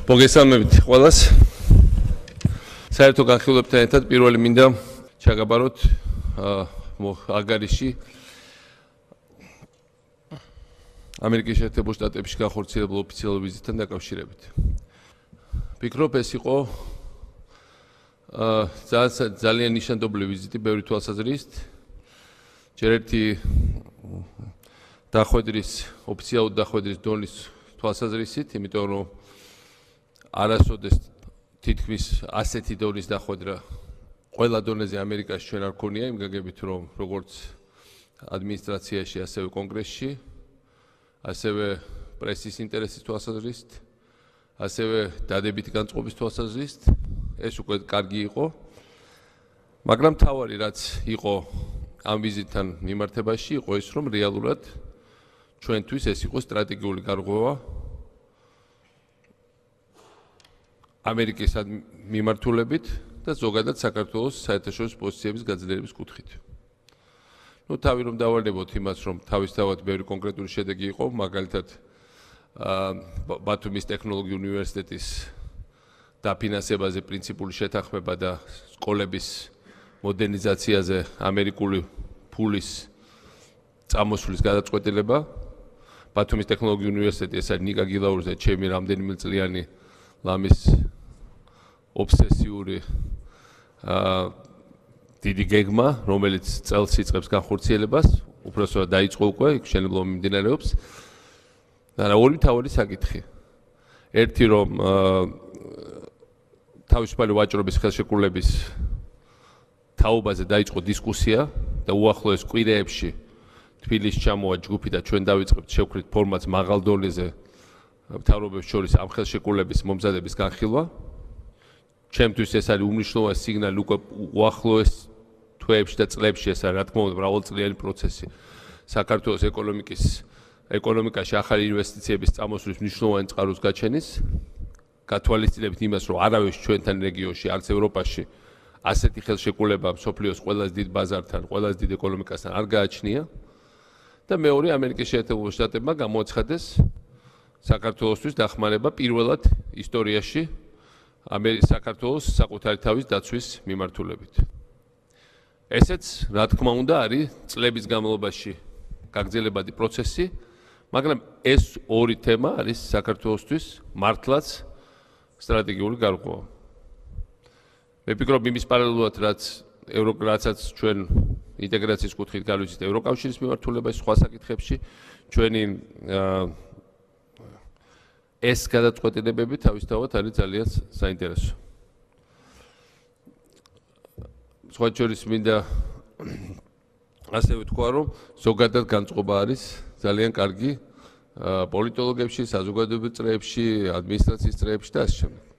მოგესალმებით ყველას. საერთო განხილვებთან ერთად პირველი მინდა ჩაგაბაროთ აგარიში ამერიკის შეერთებულ შტატებში განხორციელებულ ოფიციალურ ვიზიტთან დაკავშირებით. ვფიქრობ, ეს იყო ძალიან ნიშანდობლივი ვიზიტი ბევრი თვალსაზრისით. ჯერ ერთი ოფიციალური დახვედრის დონის თვალსაზრისით, იმიტომ რომ არასოდეს თითქმის ასეთი დონის დახვედრა ყველა დონეზე ამერიკაში ჩვენ არ ქონია, იმ გაგებით რომ როგორც ადმინისტრაციაში, ასევე კონგრესში, ასევე პრესის ინტერესის თვალსაზრისით, ასევე დადებითი განწყობის თვალსაზრისით, ეს უკვე კარგი იყო. მაგრამ თავარი რაც იყო ამ ვიზიტთან მიმართებაში, იყო ის, რომ რეალურად ჩვენთვის ეს იყო სტრატეგიული გარღვევა ამერიკის მიმართულებით და ზოგადად საქართველოს საერთაშორისო პოზიციების გაძლიერების კუთხით. თავი რომ დავარდებოთ იმას, რომ თავისთავად ბევრი კონკრეტული შედეგი იყო, მაგალითად ბათუმის ტექნოლოგიურ უნივერსიტეტის დაფინანსებაზე პრინციპული შეთანხმება და სკოლების მოდერნიზაციაზე ამერიკული ფულის წამოსვლის გადაწყვეტილება. ბათუმის ტექნოლოგიურ უნივერსიტეტი ეს არის ნიკა გილაურზე ჩემი რამდენიმე წლიანი ლამის ობსესიური დიდი გეგმა, რომელიც წელს იწყებს განხორციელებას, უпроსტად დაიწყო უკვე, მშენებლობა მიმდინარეობს. და ორი მთავარი საკითხი. ერთი რომ თავისუფალი ვაჭრობის ხელშეკრულების თაობაზე დაიწყო დისკუსია და უახლოეს კვირეებში თბილისში ჩამოვა ჯგუფი და ჩვენ დავიწყებთ შევქრით ფორმატს მაღალ დონეზე მთავრობებს შორის ამ ხელშეკრულების მომზადების განხილვა. ჩემთვის ეს არის უმნიშვნელოვანესი სიგნალი უკვე უახლოეს თვეებში და წლებში, ეს არის რა თქმა უნდა მრავალწლიანი პროცესი. საქართველოს ეკონომიკაში ახალი ინვესტიციების წამოსვლის მნიშვნელოვანი წყაროს გაჩენის, გათვალისწინებით იმას, რომ არავის ჩვენთან რეგიონში, არც ევროპაში ასეთი ხელშეკრულება მსოფლიოს ყველაზე დიდ ბაზართან, ყველაზე დიდ ეკონომიკასთან არ გააჩნია და მეორე ამერიკის შეერთებულ შტატებმა გამოაცხადეს საქართველოსთვის დახმარება პირველად ისტორიაში საქართველოს საკუთარი თავის დაცვის მიმართულებით. ესეც, რა თქმა უნდა, არის წლების განმავლობაში გაგრძელებადი პროცესი, მაგრამ ეს ორი თემა არის საქართველოსთვის მართლაც სტრატეგიული გარღვევა. მე ვფიქრობ, იმის პარალელურად, რაცაც ჩვენ ინტეგრაციის კუთხით გავიზით ევროკავშირის მიმართულებაში, სხვა საკითხებში, ჩვენი ეს გადაწყვეტილებები თავისთავად არის ძალიან საინტერესო. სხვა შორის მინდა ასევე თქვა, რომ ზოგადად განწყობა არის ძალიან კარგი პოლიტოლოგებში, საზოგადოებრივ წრეებში, ადმინისტრაციის წრეებში და ასე შემდეგ.